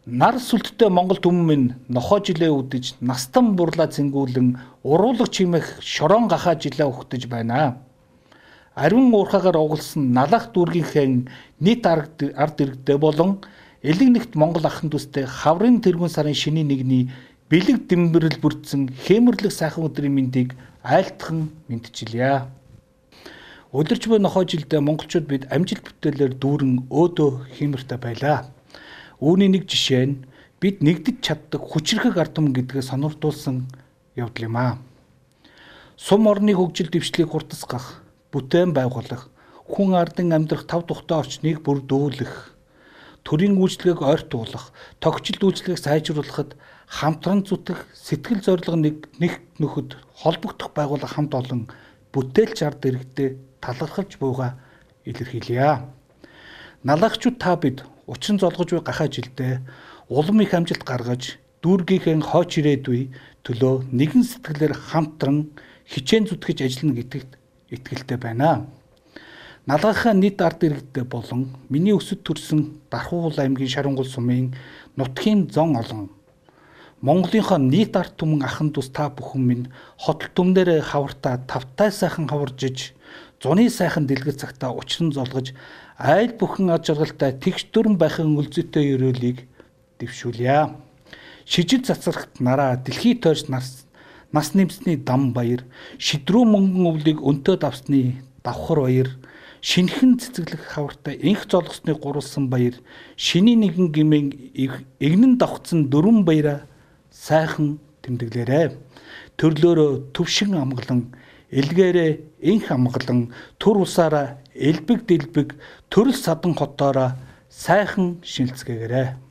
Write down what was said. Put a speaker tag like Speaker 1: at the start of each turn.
Speaker 1: Нар сүлттэй Монгол түмэн минь нохоо жилээ үдэж настан бурлаа цэнгүүлэн уруулаг чимэх шорон гахаа жилээ ухтаж байна. Ариун уурхаагаар угалсан налах дүүргийнхээ нийт ард иргэдээ болон элэг нэгт Монгол ахын дүүстэй хаврын тэргүүн сарын шинийн нэгний бэлэг дэмбэрэл бүрдсэн хэмэрлэг сайхан өдрийн мэндийг айлтхан мэдчилье. Өдөрч буй нохоо жилдээ монголчууд бид амжилт бүтээлээр дүүрэн өөдөө хэмэртэй байлаа. Үүний нэг жишээ нь бид нэгдэж чаддаг хүчрхэг ард түмэн гэдгээ сонирдуулсан явдал юм аа. Сум орны хөгжил дэвшлийг хурдасгах, бүтээн байгуулах, хүн ардын амьдрах тав тухтай орчныг бүрдүүлэх, төрийн үйлчлэгийг ойртуулах, тогтчил үйлчлэгийг сайжруулахад хамтран зүтгэх, сэтгэл зорилго нэг нөхөд холбогдох байгууллага хамт олон бүтээлч ард иргэдэд талархалж буйгаа илэрхийлье. Налагчууд та бид учран золгож буй гахаа жилдээ улам их амжилт гаргаж дүүргийнхээ хойч ирээдүй төлөө нэгэн сэтгэлээр хамтран хичээн зүтгэж ажиллана гэдэгт итгэлтэй байна. Налгахаа нийт ард иргэдээ болон миний өсөд төрсөн Дархуул аймгийн Шарангул сумын нутгийн зон олон Монголынхоо нийт ард түмэн ахын дус та бүхэн минь хотол түмнэрээ хавартаа тавтай сайхан хаваржиж зуны сайхан дэлгэр цагтаа учран золгож айл бүхэн аж аргалтай тэгш дүрэн байхын үлзэтэй өрөөлийг дэвшүүлье. Шижил цацрагт нараа дэлхий тойрч нас нэмсний дам баяр, шидрүү мөнгөн өвлийг өнтөөд авсны давхар баяр, шинхэн цэцэглэх хавартай инх золгосны гурвалсан баяр, шинийн нэгэн гимэн эгнэн давхцсан дөрвөн баяраа сайхан тэмдэглээрэ. Төрлөөрөө төвшин амгалан, элгээрээ инх амгалан, түр усаараа элбэг дэлбэг, төрөл садан хотоороо сайхан шинэлцгээгээрэ.